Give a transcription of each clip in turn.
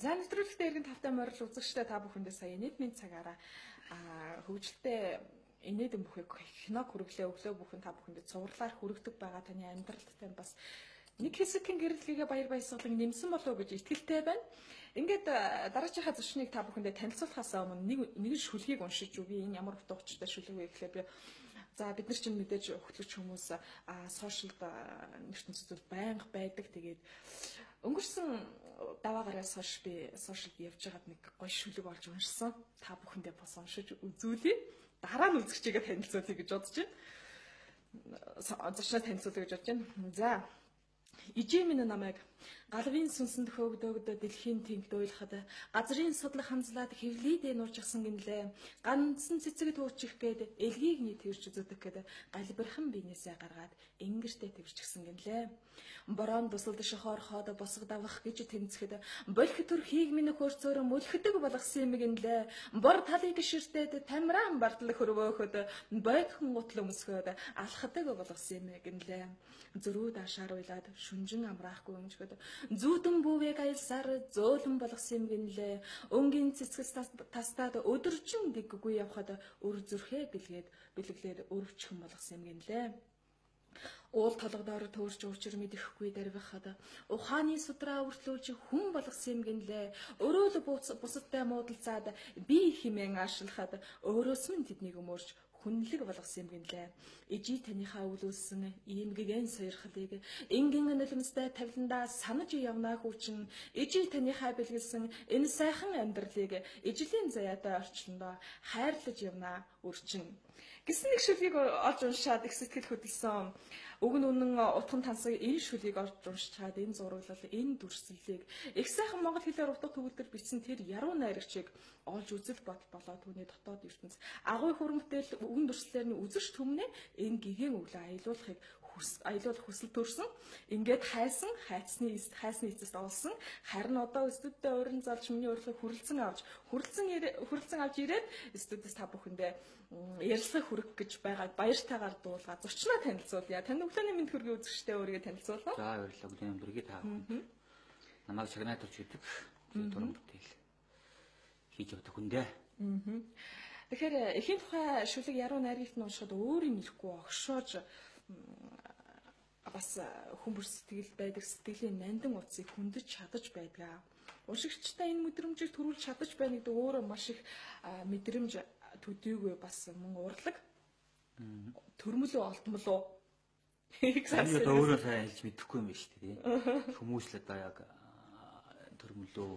За нэвтрүүлэгтээ иргэн тавтай морил үзэгчтэй та бүхэндээ сая нийтмийн цагаараа хөгжилтэй инээдэн бүхийг киног хүргэлээ өглөө бүхэн та бүхэндээ цувралаар хүргэдэг байгаа таны амьдралд тань бас нэг хэсэгхэн гэрэлтгийгээ баяр баясгалан нэмсэн болов уу гэж итгэлтэй байна. Ингээд дараачихаа зочныг та бүхэндээ танилцуулахаас өмнө нэгэн шүлгийг уншиж өгье. Энэ ямар утга учиртай шүлэг вэ гэхлээр би за бид нар чинь мэдээж хөтлөгч хүмүүс сошиалд ертөнцид байнга байдаг. Тэгээд өнгөрсөн даваа гараас хойш би сошиалд явж байгаад нэг гоё шүлэг олж уншсан. Та бүхэндээ бас уншиж үзүүлье. Дараа нь үзэгчийгээ танилцуулъя гэж бодож байна. Зочноо танилцуулъя гэж бодож байна. За ижээ минь намайг галвын сүнсэнд хөөгдөөгдө дэлхийн тэнхд уйлахад газрын судлах хамзлаад хэвлийдээ нуржгсан гинлээ. Ганцхан цэцэг туучих гээд элгийг нийт тэрч зүдэг гээд галбирхан биенээсээ гаргаад ингэртээ твэрчгсэн гинлээ. Борон дусалд шохоор хоод босго давах гэж тэнцэхэд болох төр хийг минь хөрцөөр мөлхдөг болгосон юм гинлээ. Бор талыг ширтээд тамираан бартал хөрвөөхөд бойдхон гутал өмсгөөд алхадаг болгосон юм гинлээ. Зөрүү даашаар уйлаад шүнжин амраахгүй өмжгöd зүүдэн бүвэг аялсаар зөөлөн болгосон юм гинлээ. Өнгийн цэцгэс тастаад өдөржин дэггүй явхад өр зүрхээ бэлгэлээд өрөвчхөн болгосон юм гинлээ. Уул толгодоор төөрч уучир мэдэхгүй дарвихад ухааны судраа өртлүүлж хүн болгосон юм гинлээ. Өрөөл бусадтай муудалцаад би химэн аашлахад өөрөөс минь тэднийг өмөрч хүнлэг болгосон юм гинлээ. Ижи таныхаа үүлүүлсэн ийм гэгэн сойрхлыг энгийн нулимстай тавиландаа санаж явнаа хүүчин ижи таныхаа бэлгэлсэн энэ сайхан амьдралыг ижлийн заяатай орчлондоо хайрлаж явнаа өрчин. Гэсэн нэг шүлгийг олж уншаад их сэтгэл хөдлсөн. Уг нь үнэн утхан тансаг энэ шүлгийг олж уншаад энэ зураглал энэ дүрслэлийг их сайхан монгол хэлээр утга төгөлдөр бичсэн тэр яруу найрагчийг олж үзэл болоо түүний дотоод ертөнц агуй хуримтэл үгэн дүрслэлээр нь үзэж түмнэ энэ гигэн өглөө аялуулах хүсэл төрсөн. Ингээд хайсны эцэст олсон. Харин одоо студидтэй уран залж миний урилгыг хүрэлцэн авч ирээд студиэс та бүхэндээ ярилцлага хүргэх гэж байгаа баяртайгаар дуулгаа зочноо танилцуулъя. Таны өглөөний мэнд хүргэе үзэгчтэй өөрийгөө танилцуулна. За баярлалаа. Өглөөний хүргэе та бүхэнд. Намайг Чагнаатурч гэдэг туран бүтээл хийж явдаг хүн дээ. Тэгэхээр эхийн тухай шүлэг яруу найрагт нь уншихад өөрийн нэхгүй огшоож бас хүмүүр сэтгэл байдаг сэтгэлийн нандин утсыг хөндөж чадаж байдгаа. Уншигчтай энэ мэдрэмжийг төрүүлж чадаж байна гэдэг өөрөө маш их мэдрэмж төдийгүй бас мөн урлаг. Төрмөлөө олтмолоо. Энэ өөрөө сайн хэлж мэдэхгүй юм байна шүү дээ. Хүмүүс л одоо яг төрмөлөө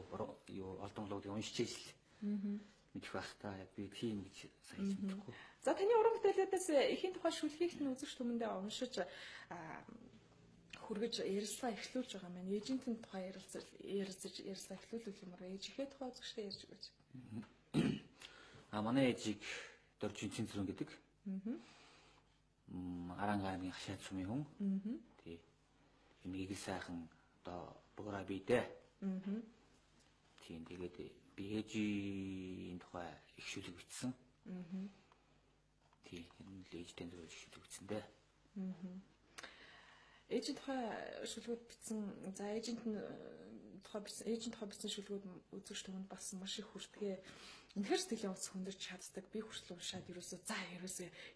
олдмолоог уншиж ирсэн. Мэдэх байх та яг би тийм гэж сайн хэлж мэдэхгүй. За таны уран бүтээлүүдээс эхийн тухай шүлгийг нь үзэгч түмэндээ уншиж хүргэж ярилцлага эхлүүлж байгаа маань эйжентийн тухай ярилцаж ярилцлага эхлүүлэх юм аа ээжийнхээ тухай үзэгчтэй ярьж өгөөч. Манай ээжийг Доржин Цэнцрэн гэдэг. Арангааны хашаад сумын хүн. Тий. Энийг сайхан одоо буураа бийдээ. Тийм тэгээд би ээжийн тухай их шүлэг бичсэн. Тий. Энэ л ээжтэй зөв шүлэг бичсэн дээ. Ээжийн тухай шүлгүүд бичсэн. За ээжийн тухай бичсэн шүлгүүд үзэгч түмэнд бас маш их хүртгээ. Үнэхээр сэтгэлийн утас хөндөрч чаддаг. Би хүртэл уншаад ерөөсөө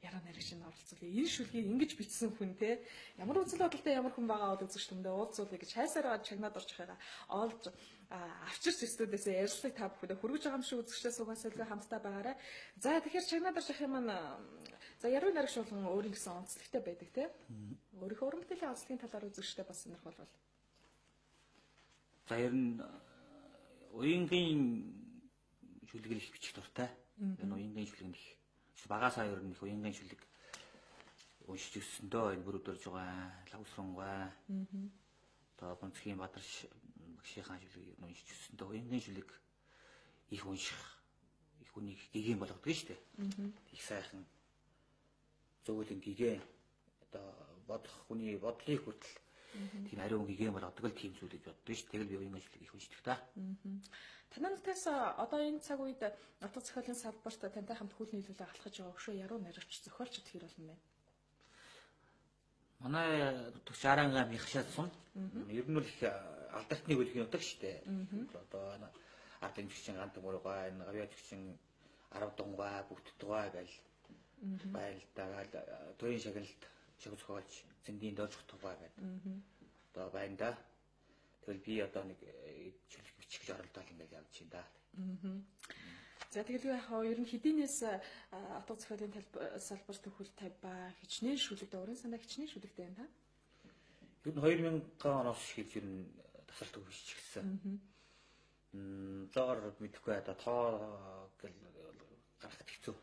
яраа нарийн шинэ оролцуулъя. Энэ шүлгийг ингэж бичсэн хүн те ямар үзэл бодолтой ямар хүн байгаа бол үзэгч түмэндээ уулзуулъя гэж хайсараа чагнаад орж байгаа. Олж авчирч студиэсээ ярилцлага та бүхэндээ хүргэж байгаа юм шиг үзэгчдээ сугасайлгаа хамтдаа байгаарай. За тэгэхээр чагнаад орж байгаа юм маань за яруу найрагч болгон өөрийн гэсэн онцлогтой байдаг те. Өөрийнхөө уран бүтээлийн онцлогийн талаар үзэгчдээ бас сонирхолтой. За ер нь уянгийн шүлэг их бичих дуртай. Энэ уянгийн шүлэг их багасаа ер нь их уянгийн шүлэг уншиж өссөндөө энэ бүр өдөрж байгаа лавсрангай. Одоо Бонцгийн Бадарш багшийнхаа шүлгийг уншиж өссөндөө уянгийн шүлэг их унших их үнийг гэгэн болгодог шүү дээ. Их сайхан зөвлөн гэгэн одоо бодох хүний бодлыг хүртэл тийм ариун гэгэн болгодог л тийм зүйл гэж боддог шүү. Тэгэл би уянгийн шүлэг их уншдаг та. Танай нутгаас одоо энэ цаг үед нутаг зохиолын салбарт тантай хамт хүл нийлүүлээ алхаж байгаа өшөө яруу найрагч зохиолч тэр болно байна. Манай төгс Арангаа михшаад сум. Ер нь бол их алдархны хөлгийн утга шүү дээ. Одоо ард эмчгийн гант мөрөгөө энэ гавьяачгийн 10 дунгай бүгд тугай гэл байлдагаал төрийн шагналд шагналж зэндийн дөрж тугай гэдэг. Одоо байна да. Тэгэл би одоо нэг чөлөг бичих гэж оролдоод ингээд явж байна да. За тэгэл яг ер нь хэдийнээс утга зохиолын салбар төвхөл 50 ба хичнээн шүлэгдэ уран санаа хичнээн шүлэгдэ байна та. Ер нь 2000 оноос шийдж ер нь тасалт өгч гисэн. Зоор мэдэхгүй одоо тоо гэл гарахд хэцүү.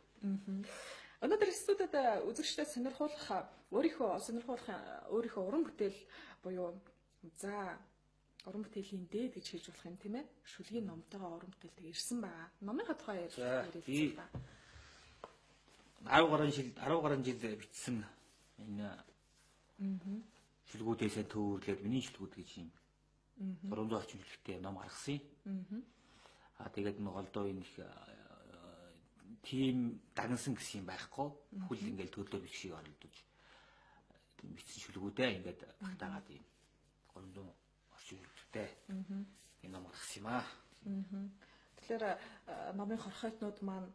Өнөөдөр студид үзэгчдэд сонирхуулах өөрийнхөө уран бүтээл буюу за уран бүтээлийн дээд гэж хэлж болох юм тийм ээ. Шүлгийн номтойгоо уран бүтээлтэй ирсэн байгаа. Номынхаа тухай ярилцсан ба. 10 гаруй жил бичсэн энэ шүлгүүдээсээ төвөрлөөд миний шүлгүүд гэж юм. 300 орчим шүлгтэй ном гаргасан юм. Тэгээд нэг голдоо энэ их тим дагнсан гэсэн юм байхгүй. Бүхэл ингээл төрлөө бичгийг оролдож бичсэн шүлгүүдээ ингээд багтаагаад юм. 300 орчим шүлгтэй энэ ном гаргасан юм аа. Тэгэхээр номын хорхойтнууд маань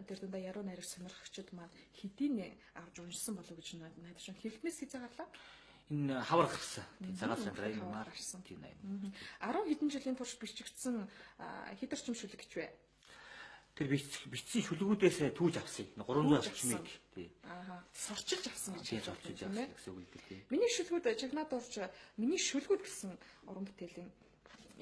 тэр дундаа яруу найраг сонирхогчид маань хэдийн авч уншсан болов гэж найдаж байна. Хэлхнээс хязгаарлаа. Энэ хавар гарсан. Тийм цагаат сандраа юм гарсан. Тийм 10 хэдэн жилийн турш бичигдсэн хэд орчим шүлэг гэж вэ? Тэр бичсэн шүлгүүдээс түүж авсан. 300 орчмыг тий. Сорчилж авсан гэж хэлж авсан гэсэн үг л дээ. Миний шүлгүүд чагнаад орж миний шүлгүүд гэсэн уран бүтээлийн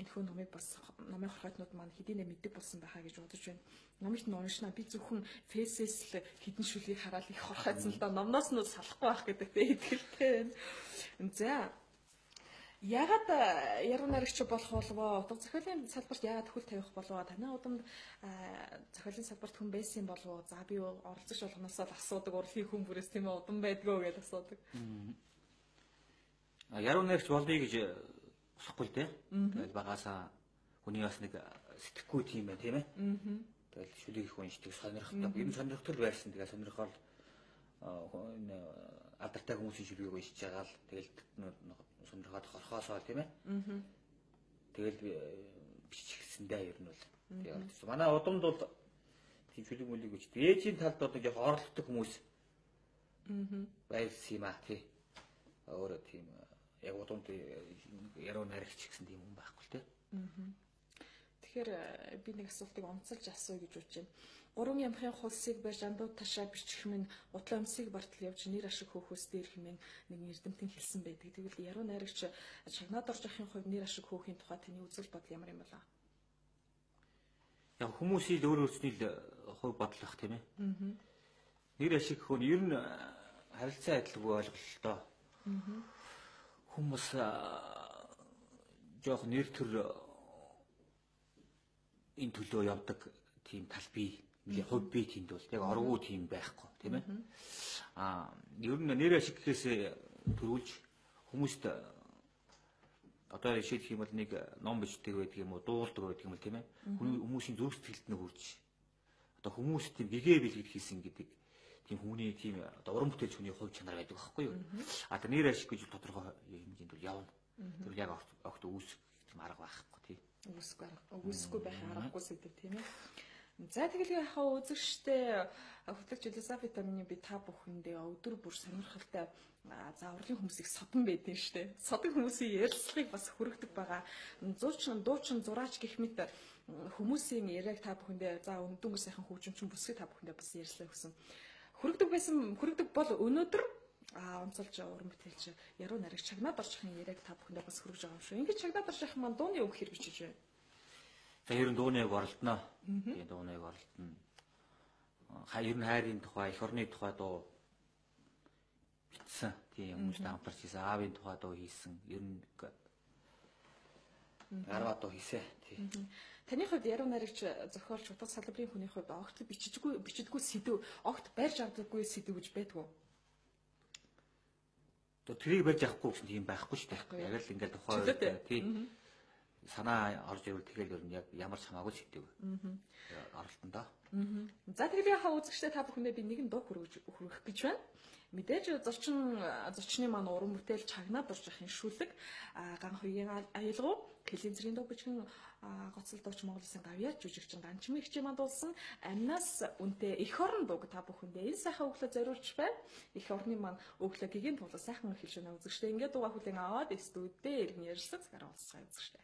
энэхүү номыг бас номын хорхойтнууд маань хэдийнэ мэддэг болсон байхаа гэж бодож байна. Номыг нь уншнаа би зөвхөн фэйсээс л хідэн шүлгийг хараад их хорхойцсон л да номноос нь салахгүй байх гэдэгтэй итгэлтэй байна. За ягаад яруу найрагч болох болов? Утга зохиолын салбарт яагаад хөл тавих болов? Танай удамд зохиолын салбарт хүн байсан болов? За би оролцогч болгоноос л асуудаг урлагийн хүн бүрээс тийм ээ удам байдгөө гэж асуудаг. Яруу найрагч болъё гэж усахгүй л дээ. Тэгэл багаасаа хүний бас нэг сэтгэхгүй тийм байх тийм ээ. Тэгэл шүлэг их уншдаг сонирхдаг. Ер нь сонирхтол байсан. Тэгээ сонирхол энэ алдартай хүмүүсийн шүлгийг уншиж байгаа л тэгэл сонирхоод хорхоосоо тийм ээ. Тэгэл бичихсэндээ ер нь бол. Тэгээ манай удамд бол тийм шүлэг мүлийг үчдэг. Ээжийн талд одоо яг орлогтой хүмүүс байсан юм аа тий. Өөрөө тийм яг удамд яруу найрагч гэсэн тийм хүн байхгүй л тий. Тэгэхээр би нэг асуултыг онцолж асууя гэж бодож байна. 3 ямхын хулсыг барьж андууд ташаа бичих минь утлаа өмсийг бартал явж нэр ашиг хөөхөөс дээр хэмээн нэг эрдэмтэн хэлсэн байдаг. Тэгвэл яруу найрагч чагнаад орж ахын хувьд нэр ашиг хөөхийн тухай таны үзэл бодол ямар юм болоо? Яг хүмүүсийн өөр өөрсний хувь бодол бах тийм ээ. Нэр ашиг хөө ер нь харилцаа адилгүй ойлголтоо. Хүмүүс жоох нэр төр энэ төлөө явдаг тийм тал бий. Хувь бие тэнд бол яг оргуу тийм байхгүй тийм ээ. Ер нь нэр ашиг гэхээс төрүүлж хүмүүст одоо жишээлх юм бол нэг ном бичдэг байдаг юм уу, дуулдаг байдаг юм бол тийм ээ. Хүмүүсийн зүрх сэтгэлд нь хүрч одоо хүмүүс тийм гэгээ бэлгэд хийсэн гэдэг тийм хүний тийм одоо уран бүтээлч хүний хувь чанар байдаг байхгүй юу? Тэр нэр ашиг гэж тодорхой хэмжээнд бол явна. Тэр яг огт үүсэх тийм арга байхгүй тий. Үүсэхгүй байх аргагүй сэдв тийм ээ. За тэгэл яхаа үзэгчтэй хөтлөгч философи тамины би та бүхэндээ өдөр бүр сонирхолтой за урлагийн хүмүүсийг содон байдیں۔ Штэ. Содон хүмүүсийн ярилцлагыг бас хүргэдэг байгаа. Дуучин зураач гэх мэт хүмүүсийн яриаг та бүхэндээ за өндөнгө сайхан хөгжимчин бүсгийг та бүхэндээ бас ярьслаа гэсэн. Хүргэдэг бол өнөөдөр онцолж уран бүтээлч яруу найрагч чагнаад орчихын яриаг та бүхэндээ бас хүргэж байгаа юм шүү. Ингээд чагнаад орчих маань дууны үг хэрэг бичиж байна. За ер нь дууны үг оролдоно. Тийм дууны үг оролдоно. Ер нь хайрын тухай, эх орны тухай дуу бичсэн. Тийм хүмүүстэй хамтарч хийсэн. Аавын тухай дуу хийсэн. Ер нь гараа дуу хийсэн. Тийм. Таны хувьд яруу найрагч зохиолч утга салбарын хүний хувьд огт бичдэггүй сэдв, огт барьж авдаггүй сэдв гэж байдгүй. Тэрийг барьж авахгүй гэсэн тийм байхгүй шүү дээ. Яг л ингээд тухай тийм санаа орж ирвэл тэгэл ер нь яг ямар ч хамаагүй л шигдэг. Оролтондоо. За тэгэл яхаа үзэгчтэй та бүхэндээ би нэгэн дуу хүргэх гэж байна. Мэдээж зочны маань уран бүтээл чагнаад орж явахын шүлэг Ган хоёрын аялгау Кэлийн цэргийн дуу бичгэн гоцол дууч Монгол Улсын гавьяа жүжигчин Ганчмын хчээ мандуулсан амнаас үнтэй эх орон дууг та бүхэндээ энэ сайхан өглөө зориулж байна. Эх орны маань өглөө гигийн тулаа сайхан хэлж байна үзэгчтэй. Ингээд дууга хүлэн аваад студид иргэн ярьсан цагаараа уулзцаа үзэгчтэй.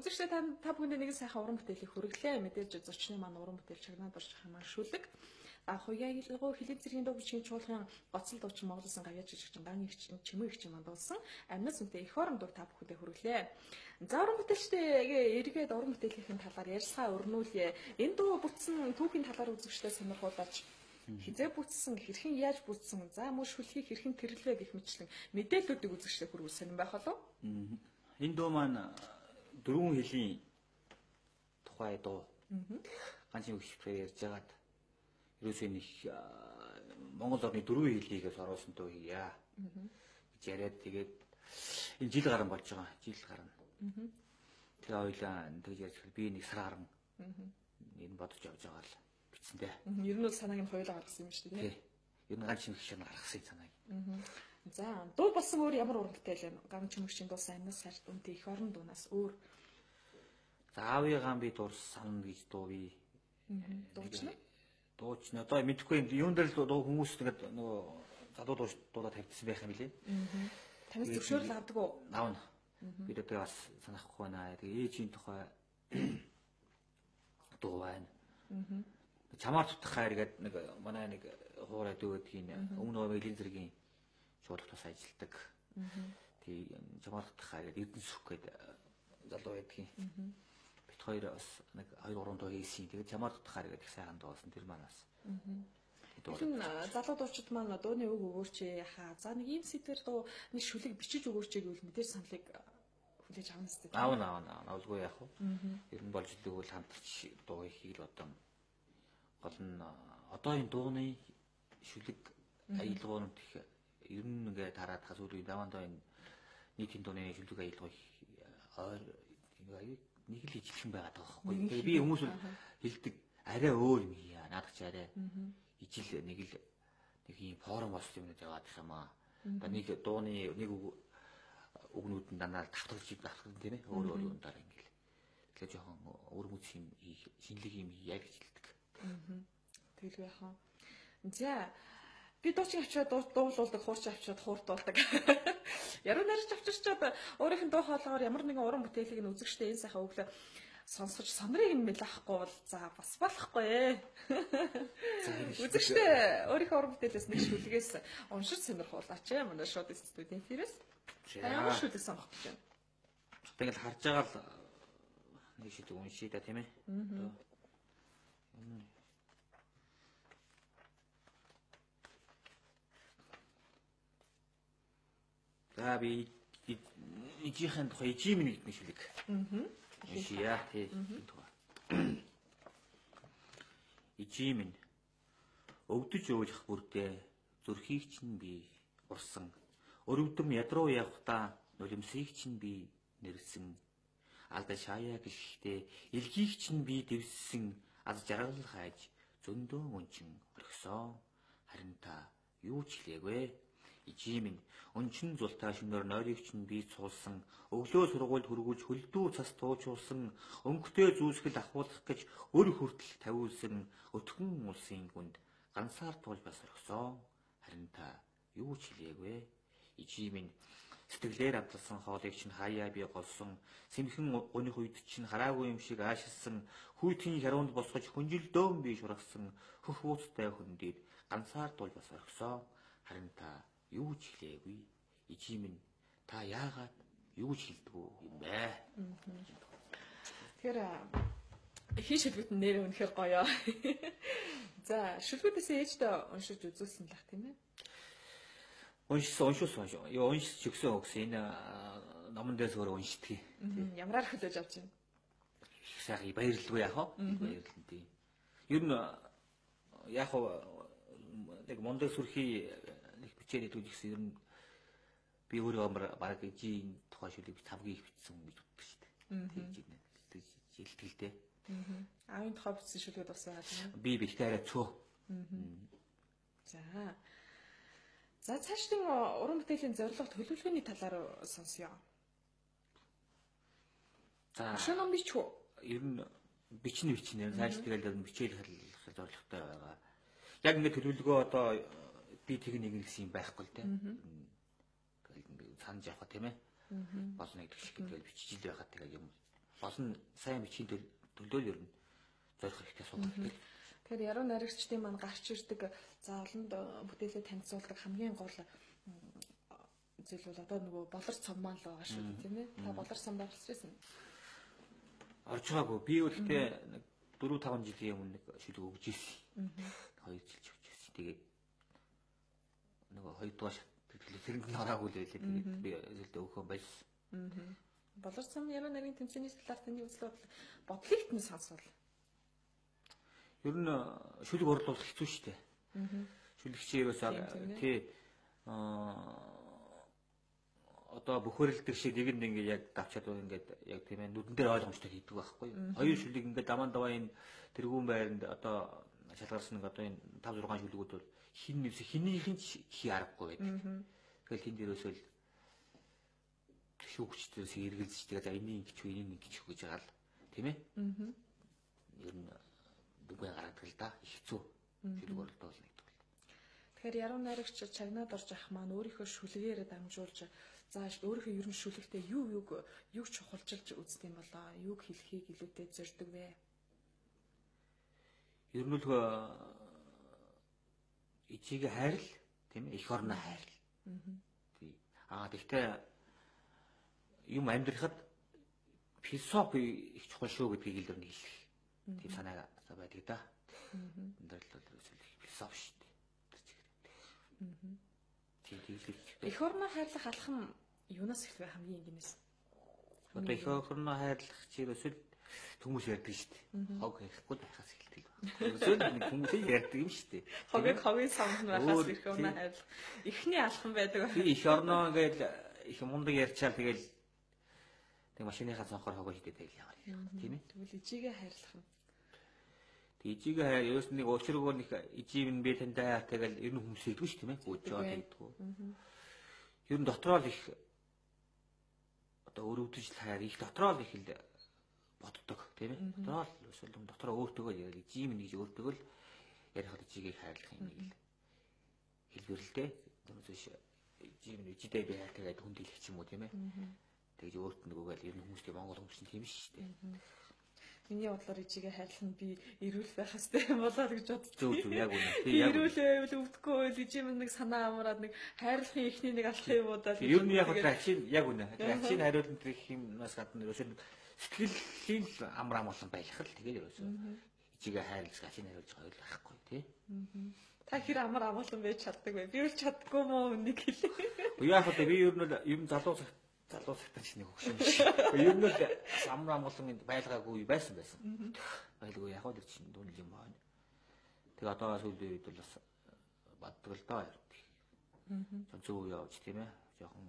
үзэгчдээ та бүхэнд нэгэн сайхан уран бүтээлийг хүргэлээ. Мэдээж зочны маань уран бүтээл чагнаад орчих юм аа шүлэг. Хуяагийн хилийн цэргийн дуу бичгийн чуулган гоцол дуучин Монголын гавьяа жижигчин ган их чимээ их чим мандуулсан амьнас үнтэй их орон дуу та бүхэндээ хүргэлээ. За уран бүтээлчтэй эргээд уран бүтээлийн талаар ярьсгаа өрнүүлье. Энэ дуу бүтсэн түүхийн талаар үзэгчдээ сонирхуулаач. Хизээ бүтсэн, хэрхэн яаж бүтсэн, за мөн шүлхийг хэрхэн тэрлэвэ гэх мэтлэн мэдээллүүдийг үзэгчдээ хүргүүл сонирн байх болов. Энэ дуу маань дөрвөн хэлний тухай дуу. Ганцхан хөвчөөр ярьж байгаад ерөөсөө нэг Монгол орны дөрвөн хэлийг оруулсан дуу хийя. гэж яриад тэгээд энэ жил гарan болж байгаа. Жил гарan. Тэгээ ойлаа тэгж ярьж би нэг сар гарan. Энэ бодож явж байгаа л бичсэндээ. Ер нь бол санааг нь хоёулаа гаргасан юм шүү дээ. Тий. Ер нь ганц чимэг шиг гаргасан санааг. За дуу болсон өөр ямар уран бүтээл вэ? Ганц чимэгчийн дуу сайнаас сард үнтэй их орон дуунаас өөр. За аавыгаа би дурсан гэж дуу би. Дуучна. Дуучна. Одоо мэдхгүй юм дээр л дуу хүмүүс тэгээд нөгөө залуу дуудаа тавьдсан байх юм билээ. Танаас зөвшөөрөл авдаг уу? Аавна. Би тэгээд бас санахгүй байна. Тэгээ ээжийн тухай дуу байна. Чамаар тутах хайр гэдэг нэг манай нэг хуурай дөөдгийн өмнө Элийн зэргийн шуудлахтаас ажилладаг. Тэг чамаар тутах хайр гэдэг Эрдэнэ сүх гэдэг залуу байдгийн. Бит хоёр бас нэг 2-3 дуу хийсэн. Тэгээд чамаар тутах хайр гэдэг сайхан дуу болсон тэр манаас. Тэгэхээр залуу дуучид маань дууны үг өгөөч яхаа. За нэг ийм сэдвэр дуу нэг шүлэг бичиж өгөөч гэвэл мэдээж саналыг хүлээж авна сте. Аавна. Авалгүй яах вэ? Ер нь болж идэвэл хамтарч дуу хийх л одоо гол нь одоо энэ дууны шүлэг аялгуунууд их ер нь ингээд хараад хас үгүй даваандаа энэ нийтийн дууны шүлэг аялгуй нэг л ижлэхэн байгаад байгаа байхгүй. Тэгээ би хүмүүс хэлдэг арай өөр юм хийя. Наадах чи арай ижил нэг ийм форум бос юм яваад их юм аа. Одоо нэг дууны нэг үгнүүд нь дандаа давтгалж тийм ээ. Өөр юмдаар ингээл. Тэгэхээр жоохон өөр мөц юм шинэлэг юм яг гэж хэлдэг. Тэгэл яхаа. За би дуучин авчиад дуулуулдаг, хуурч авчиад хууртуулдаг. Яруу нарч авчирчаад өөрийнх нь дуу хоолойгоор ямар нэгэн уран бүтээлийг нь үзэгчтэй энэ сайхан өглөө сонсгож сонрыг нь мэлахгүй бол за бас болохгүй. Үзэгчтэй өөрийнхөө уран бүтээлээс нэг шүлгээс уншиж сонирхуулаач манай шууд студент тэрээс. Ямар шүлэг сонгох гэж байна. Тэгэл харж байгаа л нэг шүлэг уншия да тийм ээ. За би ижийнхэн тухай ижимэн гэдэг нэг шүлэг. Ишия тий. Ижимэн өвдөж өөлөх бүрдээ зүрхийг чинь би урсан. Өрөвдөм ядруу явхдаа нулимсыг чинь би нэрсэн. Алда шаяа гэлтэй илгийг чинь би дэвссэн. Аз жаргал хайж зөндөө өнчин орхисон. Харин та юу ч хэлээгүй. Ижимэн өнчин зултаа шөнөөр нойрыг чинь би цуулсан. Өглөө сургуульд хөргүүлж хөлдөө цас туучуулсан. Өнгөтэй зүүсгэл ахуулах гэж өр хүртэл тавиулсан. Өтгөн улсын гүнд ганцаар туулж бас орхисон. Харин та юу ч хэлээгүй. Ижимэн сэтгэлээр амталсан хоолыг чинь хаяа би голсон. Сэмхэн уних үед чинь хараагүй юм шиг аашилсан. Хүйтийн хяруунд босгож хүнжилдөөн би шургасан. Хөх ууцтай хөндөд ганцаар туулж бас орхисон. Харин та юу ч хэлээгүй. Ижимэн та яагаад юу ч хэлдэггүй юм бэ? Тэгэхээр хин шүлгүүд нэр үнэхээр гоё. За шүлгүүдээс ээждээ уншиж үзүүлсэн л ах тийм ээ. Уншсан. Юу уншиж өгсөн энэ номон дээрс өөр уншдаг. Ямраар хөлөөж авч байна. Их сайхан баярлалгүй яах вэ? Баярлалаа тийм. Ер нь яг нэг мондөг сүрхий нэг бичээд идвэл гэсэн ер нь би өөрөө баг ижийн тухай шүлэг 5 гийг бичсэн гэж боддог шүү дээ. Тэгж жилтгэлтэй. Аавын тухай бичсэн шүлгүүд бас байгаа тийм. Би бэлтээ арай цөө. За цаашдын уран бүтээлийн зорилго төлөвлөгөөний талаар сонсъё. За шинэ ном бич үү? Ер нь бичнэ. Цааш тэгэл бичээл хэлэх зорилготой байгаа. Яг ингэ төлөвлөгөө одоо би тэг нэг гэсэн юм байхгүй л тийм. Санаж явах тийм ээ. Болно гэдэг шиг тэгэл бичиж ил байхад тэгээ юм олон сайн бичгийн төлөө л ер нь зорих хэрэгтэй суугаад тийм. Тэгэхээр яруу найрагчдын маань гарч ирдэг за олонд бүтээлээ танилцуулдаг хамгийн гол зүйл бол одоо нөгөө болор цом маань л байгаа шүү дээ тийм ээ. Та болор цомд орж ирсэн. Орж байгаагүй. Би өөртөө 4-5 жилийн өмнө нэг шүлэг өгж ирсэн. 2 жил өгч ирсэн. Тэгээд нөгөө 2 дугаар шат тэрэнд нь ораагүй л байлээ. Тэгээд би зөвлөдөө өгөхөө байсан. Болор цом яруу найргийн тэмцээний талаар таны үзэл бодлогт нь сонсвол. Ер нь шүлэг орлуулах хэцүү шүү дээ. Шүлэгчийн ерөөсөө тий одоо бөхөрлөдөг шиг нэг нь ингээд яг давчаад ингээд яг тийм ээ нүдэн дээр ойлгомжтой хийдэг байхгүй юу. Хоёр шүлэг ингээд даман даваа энэ тэргүүн байранд одоо шалгарсан нэг одоо энэ 5-6 шүлгүүд бол хиннийх нь хий аргагүй байдаг. Тэгэл тэнд ерөөсөө л шүүгчдээс эргэлзэж тэгээ за энийг ингэч гэж байгаа л тийм ээ. Ер нь дүнгээ гаргадаг л да. Хэцүү шүлэг орлуулах гэдэг бол. Тэгэхээр яруу найрагч чагнаад орж ах маань өөрийнхөө шүлгээр дамжуулж за өөрийнхөө ер нь шүлэгтээ юг чухалчилж үздэг юм болоо юг хэлхийг илүүтэй зорддог вэ? Ер нь л ичиг хайрл тийм ээ эх орны хайрл. Тий. Тэгтээ юм амьдрахад философи их чухал шүү гэдгийг л нэг хэлэх. Тийм санаа байдаг да. Өндөрлөл философи шүү дээ. Эх орноо хайрлах алхам юунаас эхлэв хамгийн энгийнээс? Одоо эх орноо хайрлах чирээсэл хүмүүс ярьдаг шүү дээ. Хог хийхгүй байхаас эхэлдэг. Ерөөсөө нэг хүмүүс ярьдаг юм шүү дээ. Хогийн самд байхаас эх орноо хайрлах. Эхний алхам байдаг. Би эх орноо ингээл их мундаг ярьчаал тэгэл тэг машиныхаа цонхоор хогоо хийдэг тэгэл яваа. Тийм ээ. Тэгвэл ижигээ хайрлах юм. Ижигээ хайр ерөөс нэг уучрагөө нэг ижив нь би тантай тэгэл ер нь хүмүүс хэлдэг шүү тийм ээ. Гүйжээд хэлдэг. Ер нь дотроо л их одоо өрөвдөж хайр их дотроо л их л боддог тийм ээ. Дотроо л өсвөл дотроо өөртөөгөө ярил ижив нь гэж өөртөөгөө л ярихад ижигээ хайрлах юм нэг л хэлбэр л дээ. Тэрнээс ижив нь ижидээ би хайртай гэдэг хүнд хэлэх юм уу тийм ээ. Тэгж өөрт нөгөөгээл ер нь хүмүүстэй Монгол хүмүүс нь тийм шүү дээ. Миний бодлоор ижигээ хайрлах нь би эрүүл байх хэрэгтэй болоо гэж боддог. Зөв яг үнэ. Эрүүл байвал өвдөхгүй байл ижим нэг санаа амраад нэг хайрлахын ихний нэг алхах юм уу даа. Ер нь яг ачин яг үнэ. Ачин хариулт гэх юмнаас гадна ерөөсөө сэтгэлийн амар амгалан байх л тэгээд ерөөсөө ижигээ хайрлах ачин хариулж байгаа л байхгүй тий. Та хэр амар амгалан байж чаддаг вэ? Би л чаддгүй мó нэг хэлээ. Яг одоо би ер нь залуу цагтаа ч нэг хөгшин биш. Ер нь л амар амгалан байлгаагүй байсан. Байлгүй яг л чинь дүнл юм байна. Тэгээ одоо сүүлийн үед бол бас баддаг л доо юм. Зөв явж тийм ээ. Жохон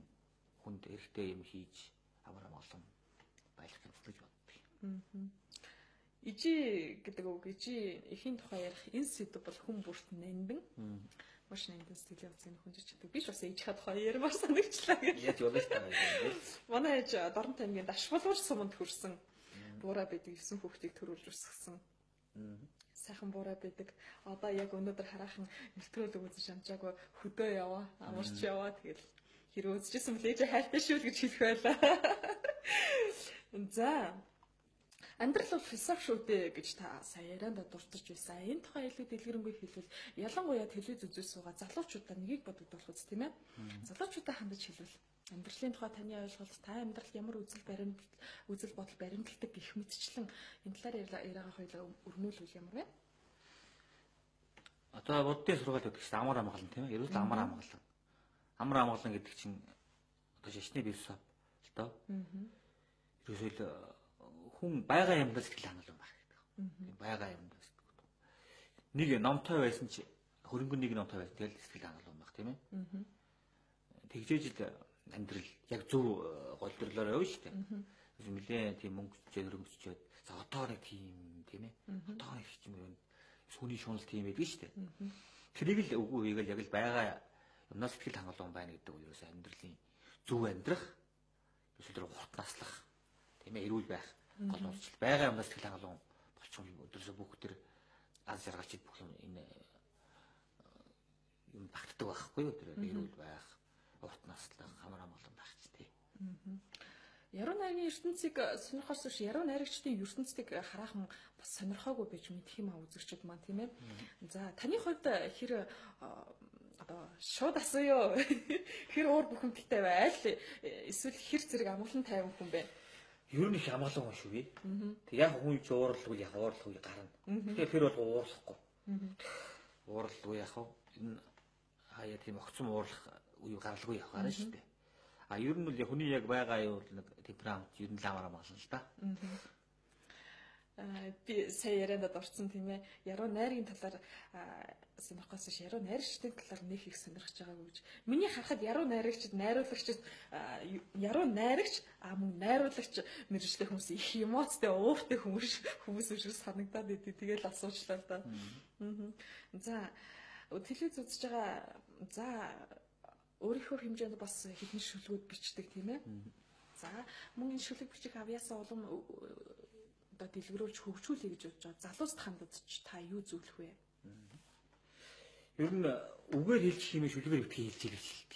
хүнд эрэхтэй юм хийж амар амгалан байлгах гэж боддог. Ижи гэдэг үг ижи эхийн тухай ярих энэ сэдв бол хүн бүрт нандин. Маш нандин сэтгэлийн хөдлөлийн хүнжиж чаддаг. Биш бас ижихад тухай ярмаар санагчлаа гэж. Яаж болно шүү дээ. Манай ээж Дорн таймгийн дашвалуур суманд хүрсэн. Буураа байдаг 9 хүүхдийг төрүүлж өсгсөн. Сайхан буураа байдаг. Одоо яг өнөөдөр хараахан нэвтрүүлэг үзэж амжаагүй хөдөө яваа, амарч яваа тэгэл хэрэг үзчихсэн мэл ээж хайртай шүү л гэж хэлэх байлаа. За амьдрал бол философи шүү дээ гэж та сая ярианда дуртарч байсан. Энэ тухай илүү дэлгэрэнгүй хэлвэл ялангуяа телевиз үзүүс суугаа залуучуудаа нёгийг бодогдох үст тийм ээ. Залуучуудаа хандаж хэлвэл амьдралын тухай таны ойлголт та амьдрал ямар үзэл бодол баримталдаг гэх мэтчлэн энэ талаар яриагаа хоёлаа өрнүүлвэл ямар вэ? Одоо буддын сургаал гэдэг чинь амар амгалан тийм ээ. Ерөөс амар амгалан. Амар амгалан гэдэг чинь одоо шашны философи л доо. Ерөөсөө хүн байгаа юмдаа сэтгэл хангалуун байх гэдэг. Байгаа юмдаа сэтгэл. Нэг номтой байсан чи хөрөнгө нэг номтой байсан тэгэл сэтгэл хангалуун байх тийм ээ. Тэгжээж л амьдрал яг зөв голдрлоор явна шүү дээ. Нилээн тийм мөнгө зөрөнгөчөөд за одоо нэг тийм ээ. Одоо нэг юм юм сүний шунал тийм байдаг шүү дээ. Тэрийг л үгүй хийгээл яг л байгаа юмнаас сэтгэл хангалуун байна гэдэг нь ерөөсөө амьдралын зөв амьдрах ерөөсөө хурд наслах тийм ээ эрүүл байх гол онцлог байгаа юмнаас сэтгэл хангалуун болчихсон өдрөөсөө бүх төр аз жаргалчид бүх юм энэ юм багтдаг байхгүй юу тэр эрүүл байх урт наслах хамар амгалан байх ч тий. Яруу найргийн ертөнцийг сонирхохоос биш яруу найрагчдын ертөнцийг хараахан бас сонирхоогүй байж мэдэх юм аа үзэгчд маань тийм ээ. За таны хувьд хэр одоо шууд асууё. Хэр уур бухимдалтай байл эсвэл хэр зэрэг амгалан тайван хүн бэ? Ер нь их амгалан хүн шүү би. Тэг яг хүн ч уурлахгүй яг уурлахгүй гарна. Тэгэхээр тэр бол уурлахгүй. Уурлахгүй яг энэ хаяа тийм огцом уурлах үе гаралгүй явах гарна шүү дээ. А ер нь бол хүний яг байгаа юу нэг темперамент ер нь ламараа мална л да. Би сая ярианд орсон тийм ээ. Яруу найргийн талаар сонирхохоос биш яруу найрагчдын талаар нэг их сонирхож байгаагүй гэж. Миний харахад яруу найрагчд, найруулагчд яруу найрагч мөн найруулагч мэржлэх хүмүүс их эмоцтой, ууртай хүмүүс шиг санагдаад идэв. Тэгэл асуучлаа л да. За телевиз үзэж байгаа за өөрийнхөө хэмжээнд бас хэдэн шүлгүүд бичдэг тийм ээ. За мөн энэ шүлэг бичих авьяасаа улам одоо дэлгэрүүлж хөгжүүлэе гэж бодож байгаа. Залуус хандаж та юу зөвлөх вэ? Ер нь үгээр хэлчих юм шүлгээр битгий хэлж ирэх хэлдэг.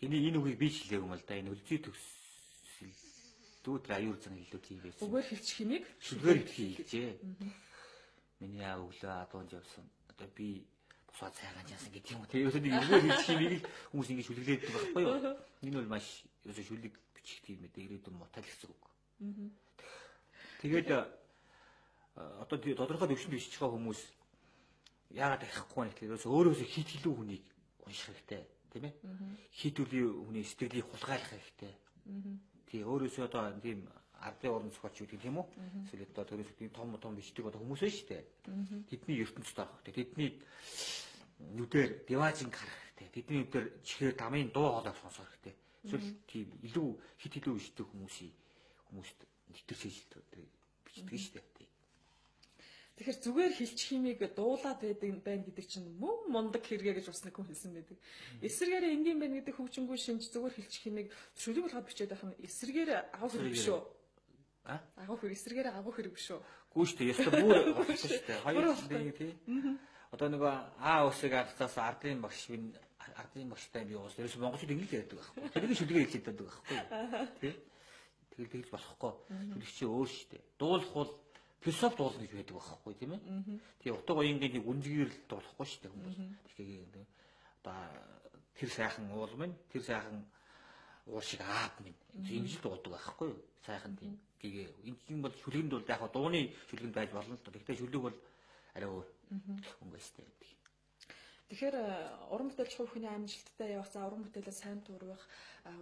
Энэ үгийг би хэлээг юм л да. Энэ үлзий төгсөлтүүд аюур зан хэлүүд юм байсан. Үгээр хэлчих юмыг шүлгээр битгий хэлжээ. Миний аав өглөө адуунд явсан. Одоо би босоод цайгаан яасан гэдэг юм. Тэгээд үгээр хэлчих юмыг хүмүүс ингэ шүлгэлээд байгаа байхгүй юу? Энэ бол маш ерөөсөө шүлэг бичих тийм ээ. Ирээдүйн мутал гэсэн үг. Тэгээд одоо тодорхой төвшөнд бичиж байгаа хүмүүс яагаад таахгүй нэг тийм өөрөөсөө хит хилүү хүнийг унших хэрэгтэй тийм ээ хит үлийн хүний сэтгэлийг хулгайлах хэрэгтэй тий өөрөөсөө одоо тийм ардын орон зохиолч гэдэг тийм үү эсвэл одоо төрөөсөө том бичдэг одоо хүмүүс байна шүү дээ тэдний ертөнцид орох хэрэгтэй тэдний нүдээр диважинг харах хэрэгтэй тэдний нүдээр чихээр дамын дуу хоолойг сонсох хэрэгтэй эсвэл тийм илүү хит хилүү бичдэг хүмүүст нэвтэрч хэлдэг бичдэг шүү дээ. Тэгэхээр зүгээр хэлчих химиг дуулаад байна гэдэг чинь мөн мундаг хэрэгэ гэж бас нэг хүн хэлсэн байдаг. Эсэргээр энгийн байна гэдэг хөгжингүй шинж зүгээр хэлчих химиг шүлэг болгоод бичээд байх нь эсэргээр агуу хэрэг биш үү? Агуу хэрэг эсэргээр агуу хэрэг биш үү? Гүү шүү дээ. Ястаа бүр болсон шүү дээ. Хоёр нэг тий. Одоо нөгөө усыг арцаас ардын багштай би уус ерөөс монголчууд ингэж ярьдаг байхгүй. Тэрийг шүлгээр хэлээд байдаг байхгүй. Тий. Тэгэл болохгүй. Шүлэгчээ өөр шүү дээ. Дуулах бол философи дуулна гэж байдаг байхгүй тийм ээ. Тэгээ утга уянгийн нэг үнзгийрэл дуулахгүй шүү дээ хүмүүс. Тэгэхээр одоо тэр сайхан уул минь, тэр сайхан уул шиг аав минь. Ингэж л дуулдаг байхгүй юу? Сайхан тийм. Гэгээ энэ бол шүлгэнд бол яг дууны шүлгэнд байж болно л доо. Гэхдээ шүлэг бол арай өөр өнгөстэй байдаг. Тэгэхээр уран бүтээлч хувь хүний амжилттай явах, за уран бүтээлээ сайн туурах,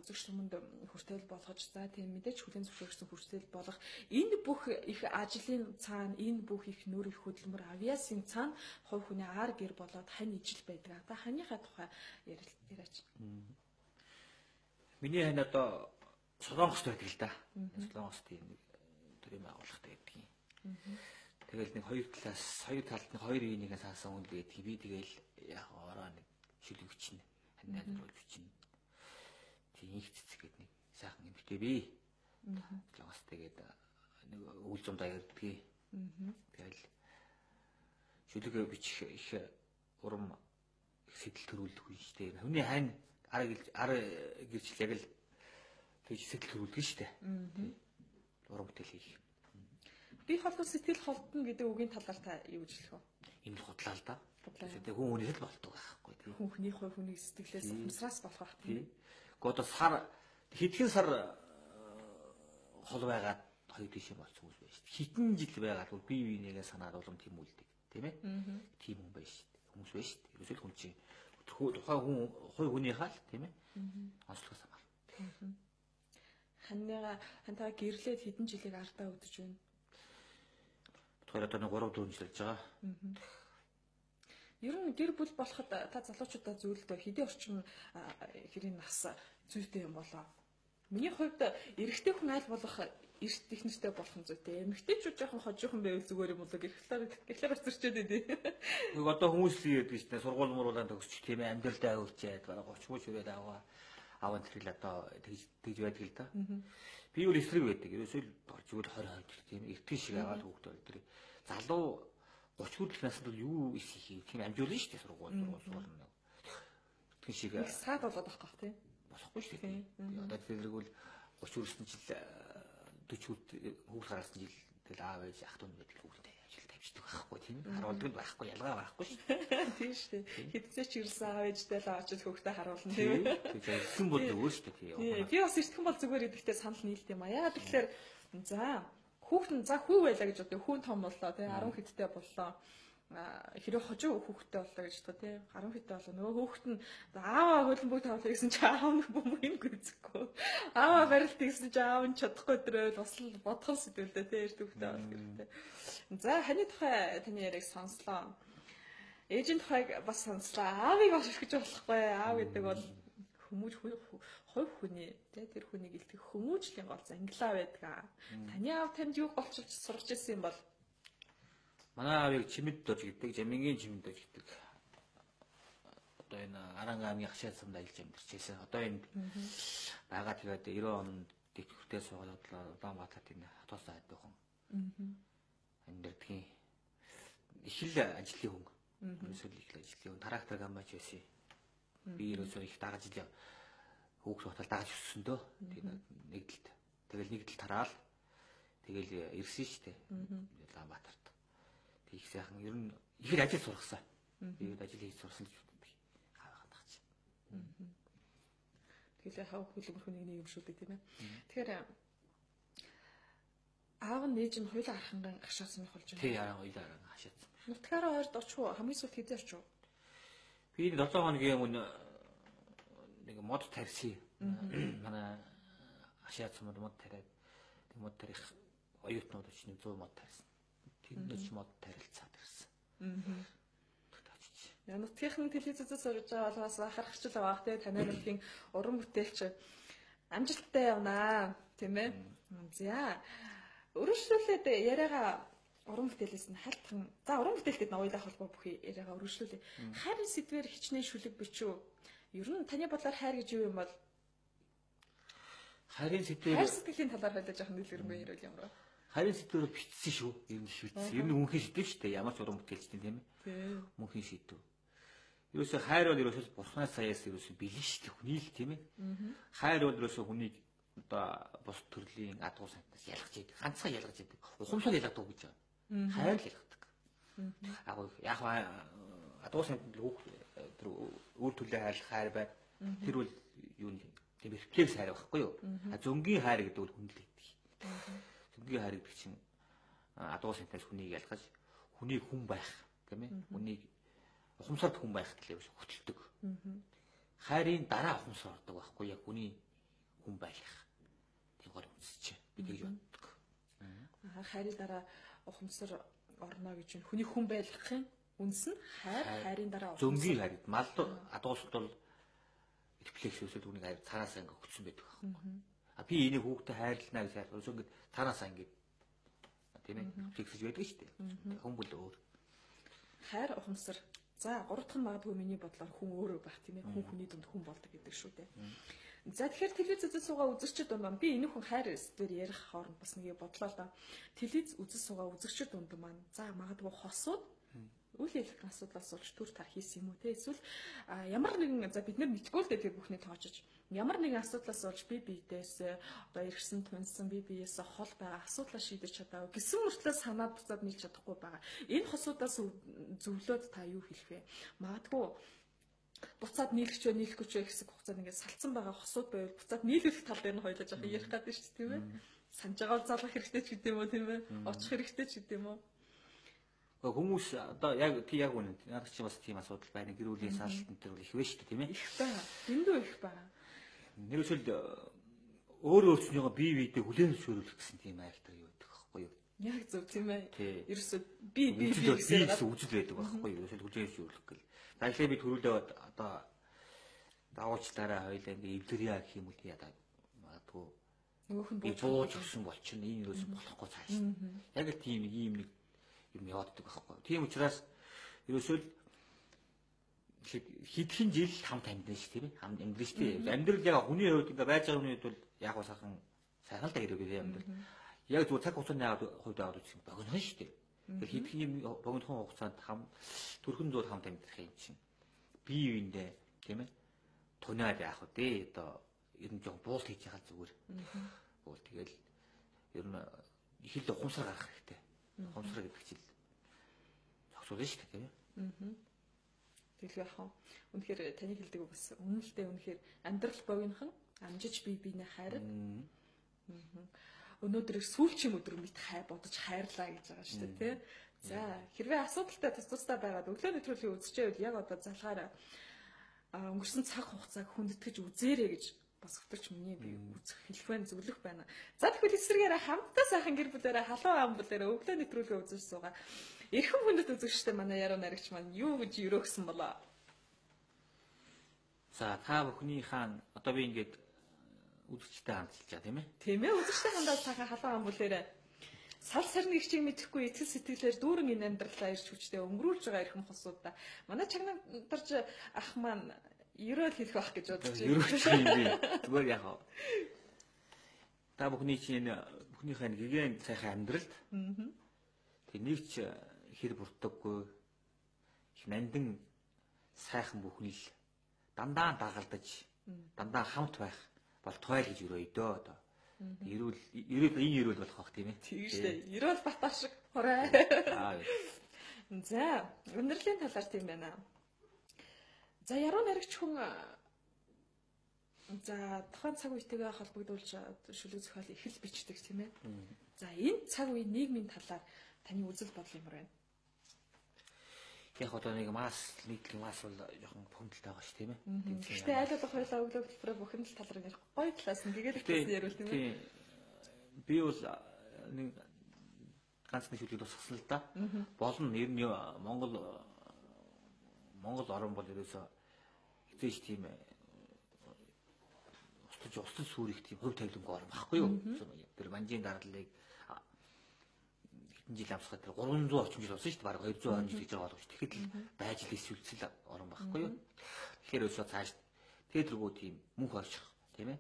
үзэгч хүмүүнд хүртэл болгож, за тийм мэдээж хүлээн зөвшөөрсөн хүртэл болох энэ бүх их ажлын цаана, энэ бүх их нөр их хөдөлмөр авьяасын цаана хувь хүний ар гэр болоод хань ижил байдаг. Та ханийхаа тухай яриач. Миний хань одоо Солонгост байдаг л да. Солонгост тийм нэг төрийн байгууллагатай байдаг юм. Тэгэл нэг хоёр талд нэг хоёр ийнийгээ саасан хүн байдаг. Би тэгэл яг ороо нэг шүлэг бичнэ. Хань найруулж бичнэ. Тийм их цэцэг гэдэг нэг сайхан эмэгтэй би. Солонгост тэгээд нэг үйл зумдаа ярьдгийг. Тэгэл шүлэг бичих их урам сэтэл төрүүлдэг юм шүү дээ. Хүний хань ар гэрчлэг яг л тэгж сэтэл төрүүлдэг шүү дээ. Урам бүтээл хийх. Би холдсон сэтгэл холдно гэдэг үгийн талаар та юу гэж хэлэх вэ? Энэ худлаа л да. Тэгээд хүн хүнээс л болдог байхгүй тийм. Хүний хувь хүний сэтгэлээс ухамсараас болох байх тийм. Гэхдээ хэдхэн сар хол байгаад хоёр тийш болцсон хүмүүс байна шүү дээ. Хитэн жил байгаад бол бие биенийгээ санаад улам тийм үлдэг тийм ээ. Тийм хүн байна шүү дээ. Хүмүүс байна шүү дээ. Ерөөсөө хүн чинь тухайн хүн хувь хүнийхээ л тийм ээ. Онцлогоос хамаарна. Хантайгаа гэрлээд хэдэн жилиг ардаа өдөж байна. Тэгэхээр одоо нэг 3-4 жил болж байгаа. Ер нь гэр бүл болоход та залуучуудаа зөвлөдөө хэдийн орчим хэрийн нас зүйтэй юм болоо. Миний хувьд эрэгтэй хүн аль болох эрт их нэртэй болох нь зүйтэй. Эмэгтэйчүүд жоохон хожуухан байвал зүгээр юм болоо. Гэхлээр өсөрчөөд идэв. Нэг одоо хүмүүс л ярьдаг шүү дээ. Сургууль мууруулаад төгсчих тийм ээ. Амьдралдаа хөвчээд бараг 30 мөч хүрээд аваа тэрэл одоо тэгж байдаг л да. Би өөр эсрэг байдаг. Ерөөсөө л зүгээр 20 тийм эртний шиг аваад хүүхдээ өдрөө. Залуу 30 хүртэлх наснд бол юу хийх тийм амжуулна шүү дээ сургууль. Эртний шиг саад болоод авах гэх тийм. Болохгүй шүү дээ. Одоо тэргүүл 30 хүрсэн жил 40 хүүхд гаргасан жил тэгэл аав ээж ах дүү байдаг хүүхдээ ажил тавьчихдаг байхгүй тийм харуулдаг байхгүй ялгаа байхгүй шүү. Тийм шүү. Хэдцээ ч ирсэн аав ээжтэй л очиж хүүхдээ харуулна тийм. Тэгээ ирсэн бол өөр шүү дээ. Би бас ирсэн бол зүгээр идэхтэй санал нийлд юм а. Яагаад тэгэхээр за хүүхэд нь за хүү байлаа гэж бодё. Хүүн том боллоо тий 10 хэдтэй боллоо. Хэрэв хожуу хүүхэдтэй боллоо гэж бодох тий 10 хэдтэй боллоо. Нөгөө хүүхэд нь ааваа хөлбөмбөг тавлаа гэсэн чи аав нь бөмбөгийг гүцэхгүй. Ааваа барилт гэсэн чи аав нь чадахгүй өдрөө бас л бодхон сэтгэлдээ тий эрт хүүхэдтэй болох хэрэгтэй. За ханы тухай таны яриг сонслоо. Ээжийн тухайг бас сонслоо. Аавыг бас өрхөж болохгүй. Аав гэдэг бол хүмүүж хувь хүний тэр хүнийг илтгэх хүмүүжлийн гол ангилаа байдаг. Таны аав танд юу болчихж сурч ирсэн юм бол манай аавыг чимэд дож гэдэг, жамингийн чимэд дож гэдэг. Одоо энэ Аранга аймгийн хашаа замд ажиллаж амьдарч байсан. Одоо энд байгаа тэгээд 90 онд дэвтгүүртээ суугаад Улаанбаатарт энэ хатуусаа хайдсан хүн. Амьдардгийн их л ажлын хүн. Ерөөсөө их л ажлын хүн. Трактор гамбач байсан. Би ерөөсөө их дагаж ил хүүхд хотол дагаж өссөн дөө. Нэгдэлт. Тэгэл нэгдэл тараал. Тэгэл ирсэн штэ. Улаанбаатарт. Тэг их сайхан ер нь их л ажил сургасан. Би ажил хийж сурсан л би хаагаад тагч. Тэгэл хав хөлбөр хүнийг нэг юм шүү дээ тийм ээ. Тэгэхээр аав нь нээж нь хоёулаа арханган гашаасан байх болж байна. Тий яаран хоёулаа арханган гашаасан. Нутгаараа ойрд очив уу? Хамгийн сүүлд хэзээ очив? Би 7 хоногийн өмнө нэг мод тарьсан. Манай хашаасан мод тариад тэг мод тарих оюутнууд ч 100 мод тарьсан. Тэнд ч мод тарилцаад ирсэн. Яа нутгийнхан телевизээс сурж байгаа бол бас харахчл байгаа те танай нутгийн уран бүтээлч амжилттай явнаа тийм ээ. За өргөжлүүлээд яриагаа уран бүтээлээс нь хальтхан. За уран бүтээлтэд ноёлох холбоо бүхий яриагаа өргөжлүүлээ. Хайрын сэдвэр хичнээн шүлэг бичүү. Ер нь таны бодлоор хайр гэж юу юм бол? Хайрын сэдвэр хайр сэтгэлийн талаар хойлож яах нь дэлгэрэнгүй ярил ямар вэ? Хайрын сэдвэр бичсэн шүү. Ер нь шийдсэн. Ер нь мөнхийн сэдв шүү дээ. Ямар ч уран бүтээлчтэй тийм ээ. Мөнхийн сэдв. Ерөөсөө хайр бол ерөөсөө бурхнаас саяас ерөөсөө бэлэн шүү дээ. Хүний л тийм ээ. Хайр бол ерөөсөө хүнийг одоо бус төрлийн адгуу сантаас ялгаж идэг. Ганцхан ялгаж идэг. Ухамсар ялгадаг гэж байна. Хайр л ялгадаг. Яг адгуу сантанд өөр төрлийн хайр байна. Тэр бол юу нэг тийм рефлекс хайр байхгүй юу? Зөнгийн хайр гэдэг бол хүнд л идэг. Зөнгийн хайр гэдэг чинь адгуу сантаас хүнийг ялгаж хүнийг хүн байх тийм ээ. Хүнийг ухамсарт хүн байх гэхлээр хөтэлдэг. Хайрын дараа ухамсар ордог байхгүй яг хүний хүн байх. Тийм гол үнсэж би тэгж боддог. Хайрын дараа ухамсар орно гэж байна. Хүний хүн байлгахын үнс нь хайрын дараа зөнгийн хайр. Мал адуусд бол рефлекс өсөд хүнийг хайр цаанаасаа ингээ хөтсөн байдаг байхгүй. Би энийг хүүхдэд хайрлана гэж хайрлаа. Ингээд цаанаасаа ингээ тийм ээ рефлексж байдаг шүү дээ. Хүн бол өөр. Хайр ухамсар. За гуравдах нь магадгүй миний бодлоор хүн өөрөө байх тийм ээ. Хүн хүний дунд хүн болдог гэдэг шүү дээ. За тэгэхээр телевизээс суугаа үзэгчд дунд би энэ хүн хайр сэдвэр ярих хооронд бас нэг бодлоо л да. Телевиз үзэж суугаа үзэгчд дунд маань за магадгүй хосууд үйл явдлын асуудлаас болж төр тар хийсэн юм уу те эсвэл ямар нэгэн за бид нар мэдгүй л дээ тэр бүхний тоочж ямар нэгэн асуудлаас болж би биедээс одоо иргсэн тунсан би биеэс хол байгаа асуудлаа шийдэж чадаагүй гэсэн мөртлөө санаад буцаад нийлж чадахгүй байгаа. Энэ хосуудаас зөвлөөд та юу хэлэх вэ? Магадгүй буцаад нийлэхгүй ч гэсэн хугацаанд ингээд салцсан байгаа хосууд байвал буцаад нийлүүлэх тал дээр нь хойлож явах ярих гэдэг шүү дээ тийм ээ. Санаж байгаа залгах хэрэгтэй ч гэдэм үү тийм ээ. Очих хэрэгтэй ч гэдэм үү. Хүмүүс одоо яг үнэ. Надад ч бас тийм асуудал байна. Гэр бүлийн саалтан дээр их вэ шүү дээ тийм ээ. Их байна. Дэндүү их байна. Нэгсэл өөрөө өөрснийгөө бие биедээ хүлээн зөвшөөрөх гэсэн тийм айхтар юу байдаг байхгүй юу? Яг зөв тийм ээ. Ерөөсөө би гэсэн үжил байдаг байхгүй юу? Ерөөсөө хүлээн зөвшөөрөх гэл. За ихлэ би төрүүлээ одоо давуучлаараа хоёлаа ингээ эвлэрья гэх юм уу яа магадгүй. Нөгөөх нь бууж өгсөн болчихно. Энэ ерөөсөө болохгүй цааш. Яг л тийм ийм нэг юм явааддаг байхгүй. Тийм учраас ерөөсөө хэдхэн жил хамт амьдна шүү тийм ээ. Хамт амьдрын шүү дээ. Амьдрал яг хүний хувьд ингээ байж байгаа хүний хувьд бол яг ба сайхан л да хэрэгээ амьдрал. Яг зөв цаг хугацааны хувьд аваад үзсэн богино шүү дээ. Тэгэхээр хэдхэн юм богинохон хугацаанд төрхөн зур хамт амьдрах юм чинь. Бие биендээ тийм ээ. Тунаад яах вэ? Одоо ер нь жоохон буулт хийж байгаа зүгээр. Буул тэгэл ер нь их л ухамсар гарах хэрэгтэй. Ухамсар гэдэг чинь зогсуулна шүү дээ, тийм ээ. Тэгэл яах вэ? Үнэхээр таны хэлдэг үг бас үнэлтэй үнэхээр амьдрал богинохан амжиж бие биенээ хайр. Өнөөдөр сүүлчийн өдөр мэд бодож хайрлаа гэж байгаа шүү дээ, тий. За, хэрвээ асуудалтай тусдаа байгаад өглөө нэвтрүүлгийг үзчихвэл яг одоо залгаараа өнгөрсөн цаг хугацааг хүндэтгэж үзээрэй гэж бас өтөрч миний би үзэх хэлэх байна, зөвлөх байна. За тэгвэл эсрэгээрээ хамтдаа сайхан гэр бүлээрээ халуун ам бүлээрээ өглөө нэвтрүүлгээ үзэж суугаа. Эрхэм хүндэт үзэгчтэй манай яруу найрагч маань юу гэж өрөөгсөн болоо. За та бүхнийхээ одоо би ингээд үзэгчтэй хандж байгаа тийм ээ. Тийм ээ, үзэгчтэй хандаад сайхан халуун ам бүлээрээ сар сарны ихчийг мэдэхгүй итгэл сэтгэлээр дүүрэн энэ амьдралаа ирж хүчтэй өнгөрүүлж байгаа эрхэм хосуудаа манай чагнамдарч ах маань ерөөл хэлэх байх гэж бодож байна. Ерөөч юм би. Зүгээр яах вэ? Та бүхнийхээ гэгэн сайхан амьдралд тэг нэг ч хэр бүрддэггүй их нандин сайхан бүхний л дандаа дагалдаж дандаа хамт байх бол тойл гэж өрөөё дөө одоо. Эрүүл болох бах тийм ээ. Тийм шүү дээ. Эрүүл батаа шиг хорой. За, өнөрлийн талаар тийм байна. За, яруу найрагч хүн за тухайн цаг үетэйгээ холбогдуулж шүлэг зохиол их л бичдэг тийм ээ. За, энэ цаг үеийн нийгмийн талаар таны үзэл бодол юмар байна. Яг одоо нэг мас нийтлэг мас бол жоохон бухимдалтай байгаа ш тийм ээ. Гэхдээ айл болох хоёлаа өглөө хөтөлбөрөөр бухимдал талаар ярих гоё талаас нь гэгээлэх гэсэн ярил тийм ээ. Би бол нэг ганц нэг шүлгийг тусгасан л да. Болно ер нь Монгол орн бол ерөөсөө хизээч тийм устж сүрэх тийм хөв тавилангүй орн баггүй юу? Тэр манжийн дарлалыг хэдэн жил амсгаад тэр 300 орчим жил болсон шүү дээ. Бараг 200 орчим жил гэж байгаа боловч тэгэхэд л байж л эсвэл орн баггүй юу? Тэгэхээр өсөө цааш тэргүү тийм мөнх орчих тийм ээ.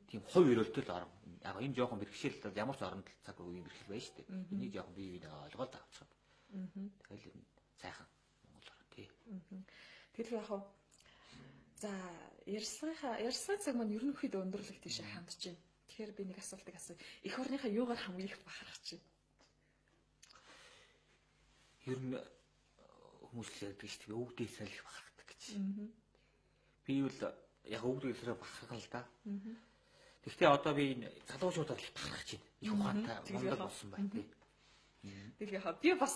Тийм хувь өрөөлтөл орн. Яг энэ жоохон бэрхшээл ямар ч оронд цаг үеийн бэрхшээл байна шүү дээ. Энийг жоохон бие биенээ ойлгоод авчихсан. Тэгэл сайхан Монгол орн тий. Тэгэл яг за ярилцлагын цаг маань ерөнхийдөө өндөрлөх тийш хандж байна. Тэгэхээр би нэг асуултыг асууя. Эх орныхаа юугаар хамгийн их бахархаж байна? Ер нь хүмүүс л ярьдаг шүү дээ. Өвгдөө салхи бахархдаг гэж. Би бол яг өвгдөөсөө бахархал л да. Гэхдээ одоо би энэ залуучуудаар л бахархаж байна. Их ухаантай Монгол болсон байна тий. Тэгээ би бас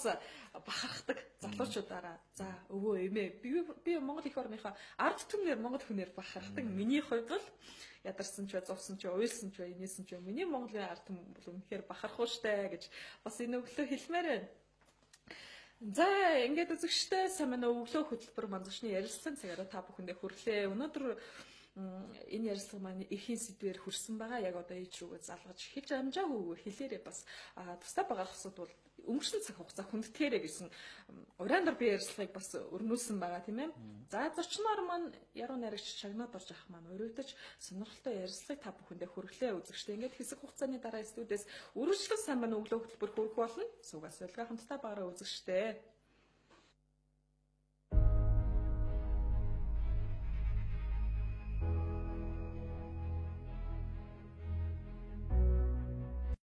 бахархдаг залуучуудаараа за өвөө эмээ би Монгол их орныхоо ард түмнэр Монгол хүнээр бахархдаг. Миний хувьд бол ядарсан ч бай, зовсон ч бай, уйлсан ч бай, инээсэн ч бай. Миний Монголын ард түмэн бол үнэхээр бахархуу штэ гэж бас энэ өглөө хэлмээр байна. За ингээд үзэгчтэй сайн манай өглөө хөтөлбөр манзагчны ярилцлагын цагаараа та бүхэндээ хүрлээ. Өнөөдөр энэ ярилцлага маань эхийн сэдвээр хүрсэн байгаа. Яг одоо ээж рүүгээ залгаж хийж амжаагүй хэлээрээ бас тусдаа байгаа хосууд бол өнгөрсөн цаг хугацаа хүндэтгээрэй гэсэн урайндар би ярилцлагыг бас өрнүүлсэн байгаа тийм ээ. За зочноор маань яруу найрагч Чагнаад орж ах маань өрөвдөж сонирхолтой ярилцлагыг та бүхэндээ хүргэлээ үзэгчтэй. Ингээд хэсэг хугацааны дараа студиэс үргэлжлэн сайн манай өглөө хөтөлбөр хүрэх болно. Суугаас байлгаа хамтдаа байгаараа үзэгчтэй.